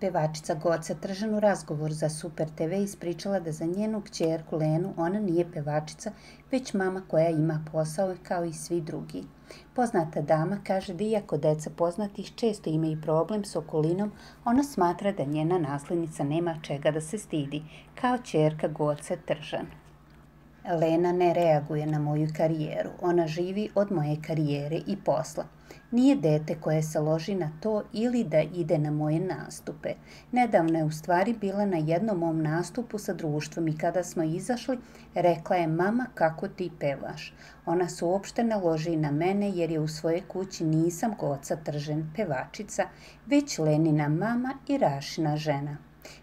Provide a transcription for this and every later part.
Pevačica Goca Tržan u razgovoru za Super TV ispričala da za njenu kćerku Lenu ona nije pevačica, već mama koja ima posao kao i svi drugi. Poznata dama kaže da iako deca poznatih često imaju problem s okolinom, ona smatra da njena naslednica nema čega da se stidi, kao ćerka Goce Tržan. Lena ne reaguje na moju karijeru, ona živi od moje karijere i posla. Nije dete koje se loži na to ili da ide na moje nastupe. Nedavno je u stvari bila na jednom mom nastupu sa društvom i kada smo izašli, rekla je mama kako ti pevaš. Ona se uopšte ne loži na mene jer je u svojoj kući nisam Goca Tržan pevačica, već Lenina mama i Rašina žena.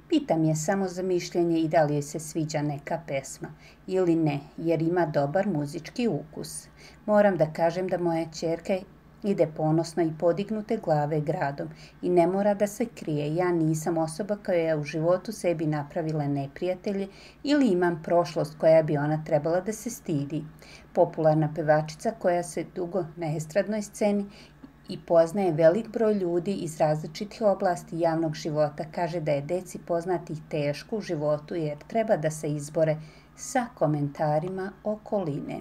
Pitam je samo za mišljenje i da li joj se sviđa neka pesma ili ne, jer ima dobar muzički ukus. Moram da kažem da moja ćerka ide ponosno i podignute glave gradom i ne mora da se krije. Ja nisam osoba koja je u životu sebi napravila neprijatelje ili imam prošlost koja bi ona trebala da se stidi. Popularna pevačica koja se dugo na estradnoj sceni i poznaje velik broj ljudi iz različitih oblasti javnog života, kaže da je deci poznatih teško u životu jer treba da se izbore sa komentarima okoline.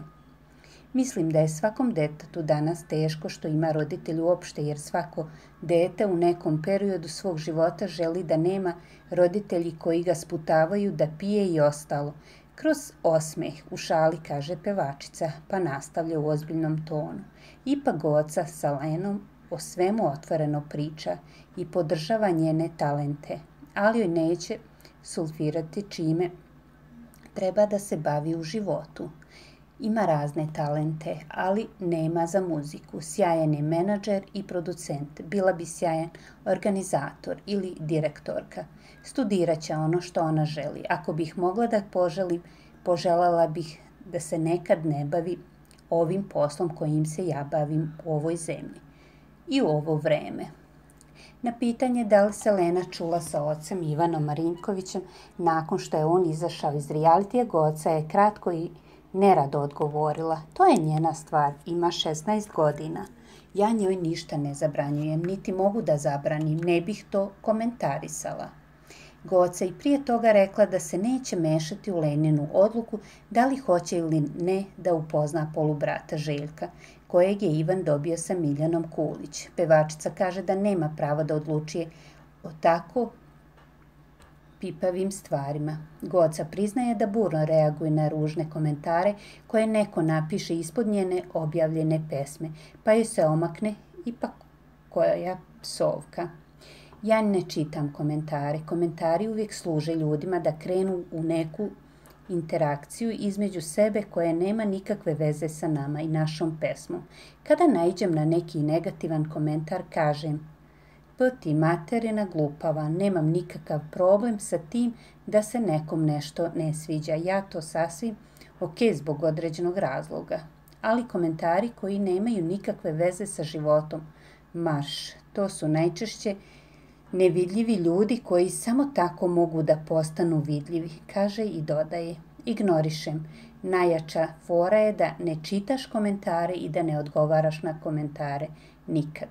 Mislim da je svakom detetu danas teško što ima roditelj uopšte, jer svako dete u nekom periodu svog života želi da nema roditelji koji ga sputavaju da pije i ostalo. Kroz osmeh u šali kaže pevačica, pa nastavlja u ozbiljnom tonu. Ipak Goca sa Lenom o svemu otvoreno priča i podržava njene talente, ali joj neće sulfirati čime treba da se bavi u životu. Ima razne talente, ali nema za muziku. Sjajan je menadžer i producent. Bila bi sjajan organizator ili direktorka. Studirat će ono što ona želi. Ako bih mogla da poželim, poželjela bih da se nekad ne bavi ovim poslom kojim se ja bavim u ovoj zemlji i u ovo vreme. Na pitanje da li se Lena čula sa ocem Ivanom Marinkovićem nakon što je on izašao iz realitija, Goca je kratko i nerado odgovorila. To je njena stvar, ima 16 godina. Ja njoj ništa ne zabranjujem, niti mogu da zabranim, ne bih to komentarisala. Goca i prije toga rekla da se neće mešati u Leninu odluku da li hoće ili ne da upozna polubrata Željka, kojeg je Ivan dobio sa Miljanom Kulić. Pevačica kaže da nema prava da odlučuje o tako pipavim stvarima. Goca priznaje da burno reaguje na ružne komentare koje neko napiše ispod njene objavljene pesme, pa joj se omakne ipak koja psovka. Ja ne čitam komentare. Komentari uvijek služe ljudima da krenu u neku interakciju između sebe koja nema nikakve veze sa nama i našom pesmom. Kada naiđem na neki negativan komentar, kažem: "P ti materina glupava, nemam nikakav problem sa tim da se nekom nešto ne sviđa. Ja to sasvim ok zbog određenog razloga. Ali komentari koji nemaju nikakve veze sa životom, marš, to su najčešće nevidljivi ljudi koji samo tako mogu da postanu vidljivi", kaže i dodaje: "Ignorišem. Najjača fora je da ne čitaš komentare i da ne odgovaraš na komentare nikad."